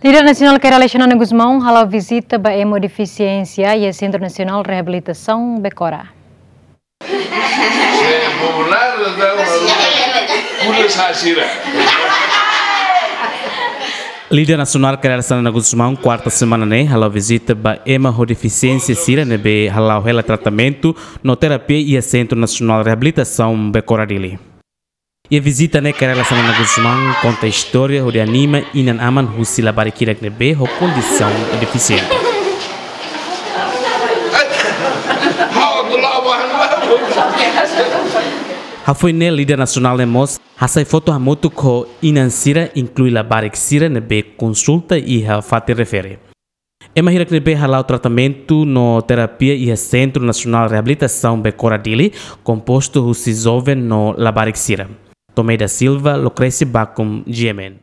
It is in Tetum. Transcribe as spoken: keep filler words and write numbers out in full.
Líder Nasionál Kay Rala Xanana Gusmão hala'o vizita ba ema ho defisiénsia iha Sentru Nasionál Reabilitasaun Becora. Líder Nasionál Kay Rala Xanana Gusmão, kuarta semana ne'e, hala'o vizita ba ema ho defisiénsia sira ne'ebé hala'o hela tratamentu no terapia iha Sentru Nasionál Reabilitasaun Becora Dili. Iha vizita ne'e, Kay Rala Xanana Gusmão konta istória hodi anima inan-aman husi labarik hirak ne'ebé ho kondisaun defisiente. Hafoin ne'e, líder nasionál ne'e mós hasai foto hamutuk ho inan sira, inklui labarik sira ne'ebé konsulta iha fatin refere. Ema hirak ne'ebé hala'o tratamentu no terapia iha Sentru Nasionál Reabilitasaun Becora Dili kompostu husi joven no labarik sira. Tomé da Silva, Lucrece Bacum, G M N.